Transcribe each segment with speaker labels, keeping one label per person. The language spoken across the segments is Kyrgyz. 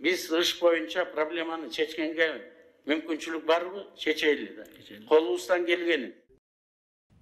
Speaker 1: Биз иш боюнча проблеманы чечкенге мүмкүнчүлүк барбы? Чечели да. Колубуздан келгени.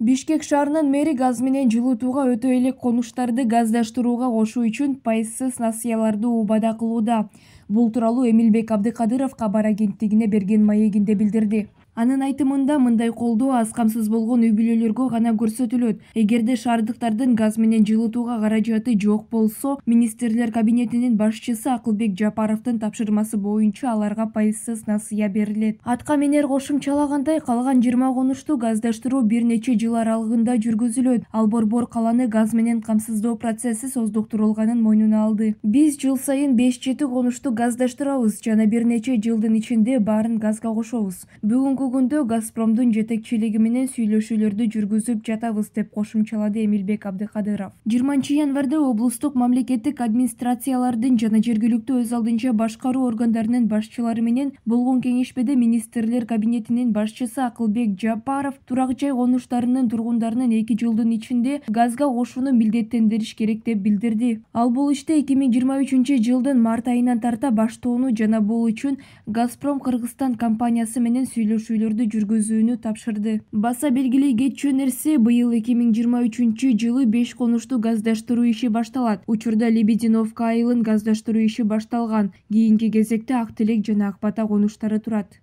Speaker 2: Бишкек шаарынын мэри газ менен жылытууга өтө элек конуштарды газдаштырууга кошуу үчүн пайызсыз насыяларды убада кылууда. Бул тууралуу Эмилбек Абдыкадыров кабар агенттигине берген маегинде билдирди. Анын айтымында мындай колдоо аз камсыз болгон үй бүлөлөргө гана көрсөтүлөт. Эгерде шаардыктардын газ менен жылытууга каражаты жок болсо, министрлер кабинетинин башчысы Акылбек Жапаровдун тапшырмасы боюнча аларга пайызсыз насыя берилет. Атка менер кошумчалагандай, калган 20 конушту газдаштыруу бир нече жыл аралыгында жүргүзүлөт. Ал борбор каланы газ менен камсыздоо процесси создуктурулганын мойнуна алды. Биз жыл сайын 5-7 конушту газдаштырабыз жана бир нече жылдын ичинде баарын газга кошобуз. Бүгүнкү күндө Газпромдун жетекчилиги менен сүйлөшүүлөрдү жүргүзүп жатабыз, деп кошумчалады Эмилбек Абдыкадыров. 20 январда облустук мамлекеттик администрациялардын жана жергиликтүү өз алдынча башкаруу органдарынын башчылары менен болгон кеңешмеде министрлер кабинетинин башчысы Акылбек Жапаров турак жай конуштарынын тургундарынын 2 жылдын ичинде газга кошууну милдеттендириш керек деп билдирди. Ал бул иште 2023 жылдын март айынан тарта баштоону жана бул үчүн Газпром Кыргызстан компаниясы менен сүйлөшүүлөрдү жүргүзүүнү тапшырды. Баса белгилей кетчү нерсе, быйыл 2023 жылы 5 конушту газдаштыруу иши башталат. Учурда Лебединовка айылын газдаштыруу иши башталган. Кийинки кезекте Ак Телек жана Ак Бата конуштары турат.